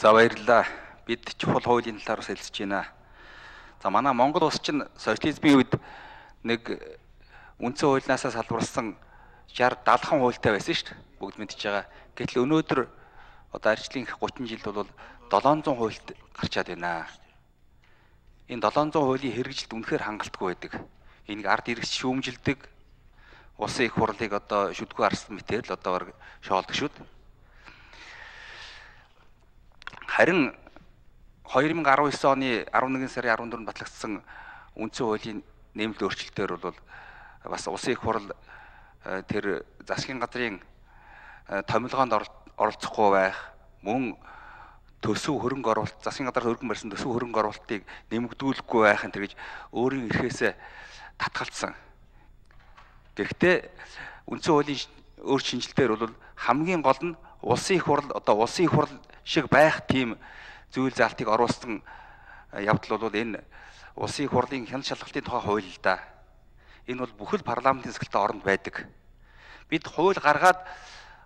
За баярлалаа. Бид чухал хуулийн талаар хэлсэж байна. За манай Монгол улс чинь социализмын үед нэг үндсэн хуулинаасаа салбарсан 60-70 хуультай байсан шүү дээ. Бүгд мэдчихэж байгаа. Гэтэл өнөөдөр одоо арчлын 30 жилд бол 700 хуульд гарчаад байна. Энэ 700 хуулийн хэрэгжилт үнэхээр хангалтгүй байдаг. Энийг ард иргэс шүүмжилдэг, улсын их хурлыг одоо шүдгүй арсан мэтээр л одоо шоолдог шүү дээ. Харин 2019 оны 11 сарын 14-нд батлагдсан үндсэн хуулийн нэмэлт өөрчлөлтөөр бол бас улсын их хурл тэр засгийн газрын томилгоонд оролцохгүй байх, мөн төсөв хөрөнгө оруулалт, засгийн газар хөргөн барьсан төсөв хөрөнгө оруулалтыг нэмэгдүүлэхгүй байх энэ гэж өөрийн эрхээсээ татгалцсан. Гэхдээ үндсэн хуулийн шинжилтээр бол хамгийн гол нь улсын их хурл одоо улсын их хурл шиг байх тийм зүйл заалтыг оруулсан явдал бол энэ улсын их хурлын хяналт шалгалтын тухай хууль л да. Энэ бол бүхэл парламентын сэтгэлтэй оронд байдаг. Бид хууль гаргаад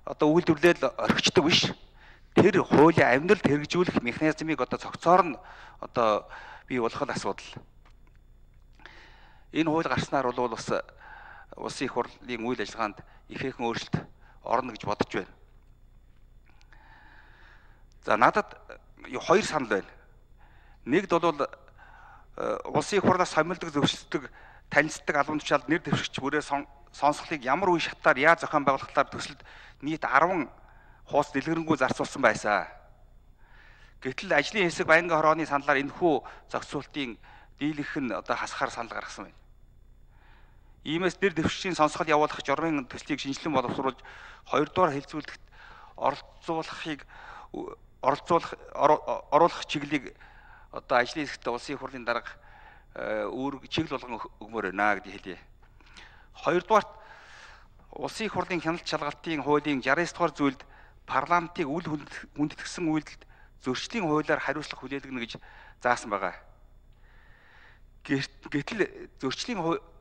одоо үйлдвэрлэл орхичдаг биш. Тэр хуулийн амьдралд хэрэгжүүлэх механизмыг одоо цогцоор нь одоо бий болгох асуудал. Энэ хууль гарснаар бол бас улсын их хурлын үйл ажиллагаанд ихээхэн өөрчлөлт орно гэж бодож байна. За надад хоёр санал байна. Нэгд бол улсын их хурлаас сомилдог, зөвшөлдөг, танилцдаг албан тушаалд нэр дэвшигч бүрээ сонсголыг ямар үе шатаар яаж зохион байгуулахлаар төсөлд нийт 10 хуус дэлгэрэнгүй зарцуулсан байсан. Гэтэл ажлын хэсэг Баянгын хорооны саналаар энэхүү зохицуултын дийлэнх нь одоо хасахаар санал гаргасан байна. Иймээс нэр дэвшигчийн сонсгол явуулах журмын төслийг шинжилэн боловсруулж 2 дугаар хэлцүүлэгт оруулах чиглэлийг одоо ажлын хэсэгт улсын их хурлын дарга үүрэг чиглэл болгон өгмөр байна гэдгийг хэлье. 2 дугаарт улсын их хурлын хяналт шалгалтын хуулийн 69 дугаар зүйлд парламентыг үл хүндэтгсэн үйлдэлд зөрчлийн хуулиар хариуцлага хүлээлгэнэ гэж заасан байгаа. Гэтэл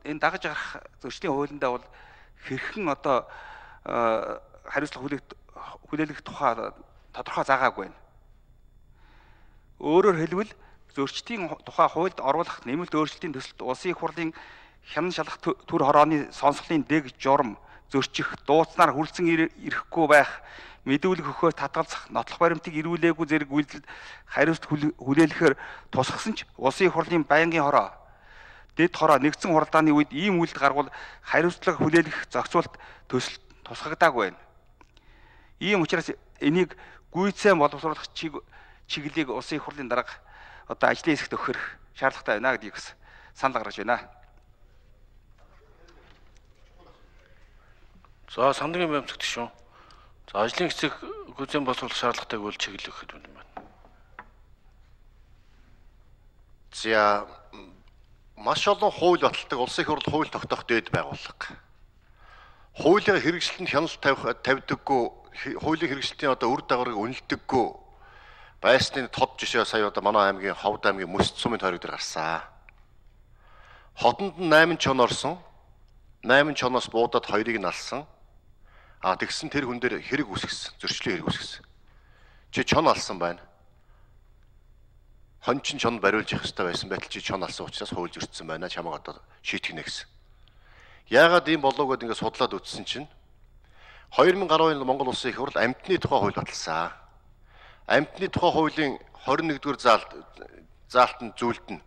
энэ дагаж гарах зөрчлийн хуулиндаа бол хэрхэн одоо хариуцлага хүлээлгэх тухай тодорхой заагаагүй байна. Өөрөөр хэлбэл зөрчлийн тухай хуульд оруулах нэмэлт өөрчлөлтийн төсөлд улсын их хурлын хяналт шалгах төр хорооны сонсголын дэг журам зөрчих, дууцнаар хүлцэн ирэхгүй байх, мэдүүлэг өгөхөөр татгалзах, нотлох баримтыг ирүүлээгүй зэрэг үйлдэлд хариуцлага хүлээлгэхээр тусгасан ч улсын их хурлын байнгын хороо, дэд хороо нэгдсэн хуралдааны үед ийм үйлдэл гарвал хариуцлага хүлээлгэх зохицуулт төсөл тусгагдаагүй байна. Ийм учраас энийг гүйцэн боловсруулах чиглэлийг улсын их хурлын дарга одоо ажлын хэсэгт өгөх шаардлагатай байна гэдгийг бас санал гаргаж байна. За сандрын баймцагт шүү. За ажлын хэсэг гүйцэн боловсруулах шаардлагатайг үл чиглэл өгөх юм байна. За маш олон хууль баталдаг улсын их хурл хууль тогтоох дээд байгууллага. Хуулийн хэрэгжилтэнд хяналт тавьдаггүй, хуулийн хэрэгжилтийн одоо үр дагаврыг үнэлдэггүй байсны тод жишээ сая одоо манай аймгийн Ховд аймгийн Мөсд сумын тойрог дээр гарсан. Хотонд нь 8 чон орсон. 8 чоноос буудаад 2-ыг нь алсан. Тэгсэн тэр хүн дээр хэрэг үүсгэсэн, зөрчлийн хэрэг үүсгэсэн. Чи чон алсан байна. Хон чин чон бариулж явах хэрэгтэй байсан байтал чи чон алсан учраас хууль зөрчсөн байна. Чамайг одоо шийтгэх нэ гэсэн. Яагаад ийм болов гэдээ ингээд судлаад үзсэн чинь 2010 онд Монгол Улсын их хурл амьтны тухай хууль баталсан. Амьтны тухай хуулийн 21-р заалтанд зүйлд нь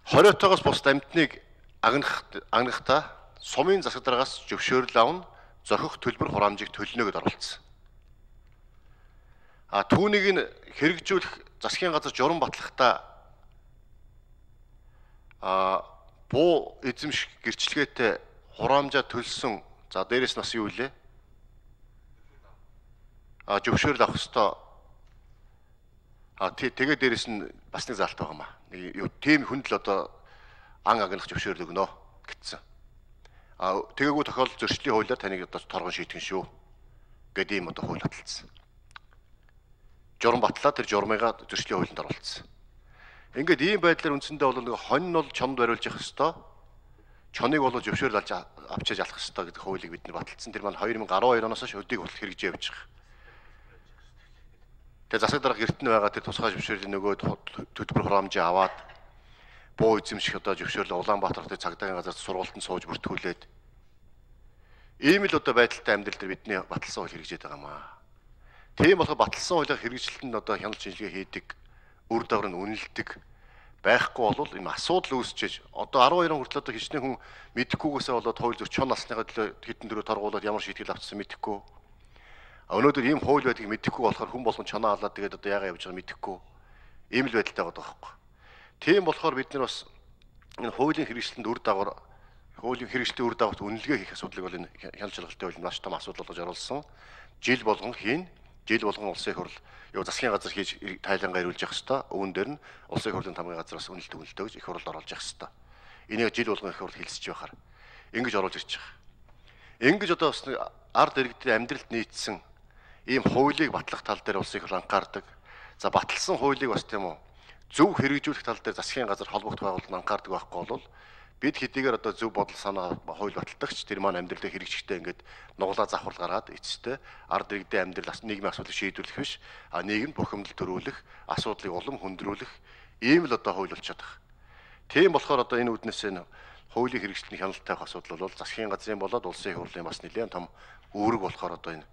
20-оос бус амьтныг агнахтаа сумын засаг дараагаас зөвшөөрөл авна, зохих төлбөр хураамжийг төлнө гэдээ оролцсон. Түүнийг нь хэрэгжүүлэх засгийн газар журам батлахдаа буу эзэмших гэрчлэгээтэй хураамжаа төлсөн. За дээрэс нас юу вэ? Зөвшөөрөл авах ёстой. Тэгээ дээрэс нь бас нэг заалт байгаа маа. Нэг тийм хүнд л одоо ан агнах зөвшөөрөл өгнө гэсэн. Тэгээгүү тохиолдолд зөрчлийн хуулиар таныг одоо торгон шийтгэн шүү гэдэг юм одоо хууль баталсан. Журам батлаа тэр журмыгаа зөрчлийн хуулинд оруулсан. Ингээд ийм байдлаар үндсэндээ бол нэг хонь нь бол чонд бариулж явах ёстой. Чоныг бол зөвшөөрөл авчиж алах ёстой гэдэг хуулийг бид нар баталсан. Тэр маань 2012 оноос хойш өдийг бол хэрэгжиж явж байгаа. Тэгээ засаг дарга гэртэн байгаа тэр тусгай зөвшөөрлийн нөгөө төлбөр хураамжийг аваад буу эзэмших одоо зөвшөөрлө Улаанбаатар хотын цагдаагийн газар сургуультанд сууж бүртгүүлээд ийм л одоо байдалтай амьдрал дээр бидний баталсан хууль хэрэгжээд байгаа маа. Тийм болохоор баталсан хуулийг хэрэгжилтэнд одоо хяналт шинжилгээ хийдэг, үр дагавар нь үнэлдэг байхгүй бол энэ асуудал үүсчээж одоо 12 он хүртэл одоо хичнээн хүн мэдэхгүйгээсээ болоод хууль зөрчил насныхаа төлөө хэдэн дөрөв торгуулаад ямар шийтгэл авчихсан мэдэхгүй. Өнөөдөр ийм хууль байдгийг мэдэхгүй болохоор хүн болгон чанаа халаад тэгээд одоо яагаад явж байгааг мэдэхгүй. Ийм л байдалтай байгаа байхгүй. Тийм болохоор бид нар бас энэ хуулийн хэрэгжилтэнд үр дагавар хуулийн хэрэгжилтийн үр дагаварт үнэлгээ хийх асуудлыг бол энэ хяналт шалгалтын хууль маш том асуудал болж оруулсан. Жил болгон хийн, жил болгон улсын хурл засгийн газар хийж тайлангаа ирүүлж явах хэвээр. Үүн дээр нь улсын хурлын тамгын газраас үнэлтөө гэж их хурлд оруулж явах хэвээр. Энийг жил болгон их хурл хэлсэж байхаар ингэж оруулж ирж байгаа. Ингэж одоо бас ард иргэдийн амьдралд нийцсэн ийм хуулийг батлах тал дээр улсын хурл анхаардаг. За баталсан хуулийг бас тийм үү зөв хэрэгжүүлэх тал дээр засгийн газар холбогдох байгууллагууд анхаардаг байхгүй бол бид хэдийгээр одоо зөв бодол санаа хууль баталдагч тэр маань амьдралдаа хэрэгжихтэй ингээд нуглаа завхрал гаргаад эцэстээ ард иргэдийн амьдрал нийгмийн асуудлыг шийдвэрлэх биш а нийгэмд бухимдал төрүүлэх асуудлыг улам хүндрүүлэх ийм л одоо хууль болчиход байгаа. Тийм болохоор одоо энэ үднээс энэ хуулийн хэрэгжилтний хяналт тавих асуудал бол засгийн газрын болоод улсын хурлын бас нэлээд том үүрэг болохоор одоо энэ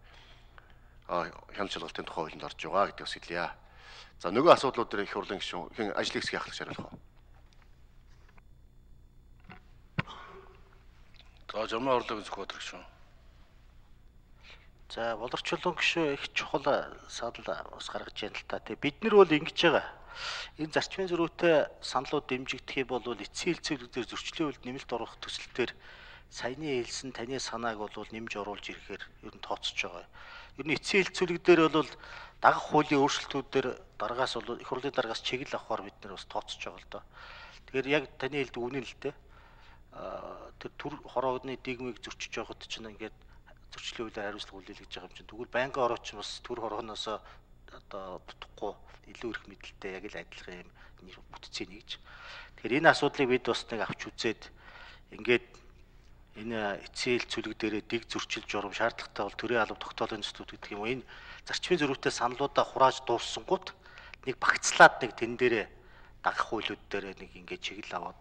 хяналт шалгалтын тухай хуулинд орж байгаа гэдгийг хэлье. За нөгөө асуудлууд дээр их хурлын гишүүн ажлын хэсгийн ахлагч хариулах уу? За жамаа орлогын зөвхөн гişүүн. За боловсруулсан гişүү их чухал санал бас гаргаж байна л та. Тэгээ бид нар бол ингэж байгаа. Энэ зарчмын зөрүүтэй саналууд дэмжигдэх юм бол эцсийн хэлцүүлэгдээр зөрчлийн үйлд нэмэлт оруулах төсөлтөөр саяны хэлсэн таны санааг бол нэмж оруулж ирэхээр ер нь тооцож байгаа. Ер нь эцсийн хэлцүүлэгдээр бол дагах хуулийн өөрчлөлтүүдээр дараагаас бол их хурлын дараагаас чиглэл авахар бид нар бас тооцож байгаа л доо. Тэгэхээр яг таны хэлдэг үнэн л дээ. Тэр төр хороогны дигмийг зөрчиж явахд чинь ингээд зөрчлийн хуулиар хариуцлага хүлээлгэж байгаа юм чинь тэгвэл байнгын орооч бас төр хорогноос одоо бутахгүй илүү их мэдлэлтэй яг л адилхан юм бүтцээ нэгж. Тэгэхээр энэ асуудлыг бид бас нэг авч үзээд ингээд энэ эцсийн хэлцүүлэг дээрээ дэг зөрчил журам шаардлагатай бол төрийн алба тогтоолын зүйтлүүд гэдэг юм уу энэ зарчмын зөрүүтэй саналуудаа хурааж дууссангууд нэг багцлаад нэг тэн дээрээ дагах хуулиуд дээрээ нэг ингээд чиглэл аваад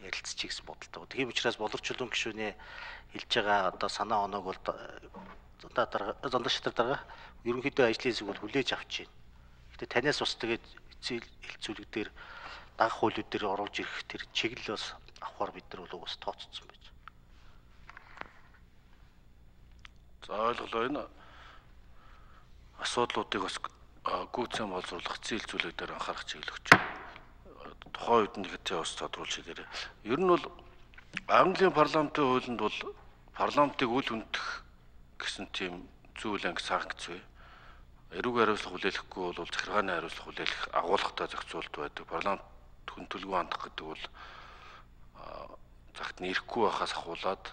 ярилцчих гэсэн бодолтой. Тийм учраас боловсруулсан гишүүний хэлж байгаа одоо санаа оноог бол зондоо шатар дарга ерөнхийдөө ажлын хэсэг бол хүлээж авч байна. Гэтэ танаас бас тэгээд эцсийн хэлцүүлэг дээр дагах хуулиуд дээр оруулж ирэх тэр чиглэл бас авахар бид нар бол бас тооцсон байж. За ойлголоо энэ асуудлуудыг бас гүйцэн боловсруулах эцсийн хэлцүүлэг дээр анхаарах чиглэл өгч байна. Тухайн үед нь хэзээ бас тодруулж ирээрээ. Ер нь бол Английн парламентын хуулинд бол парламентыг үл хөндөх гэсэн тийм зүйл анги санкц бай. Эрүүг хариуцлага хүлээхгүй бол захиргааны хариуцлага хүлээх агуулгатай зохицуулт байдаг. Парламент хүн төлгөө хандах гэдэг бол цагт нэрэхгүй байхаас ахуулаад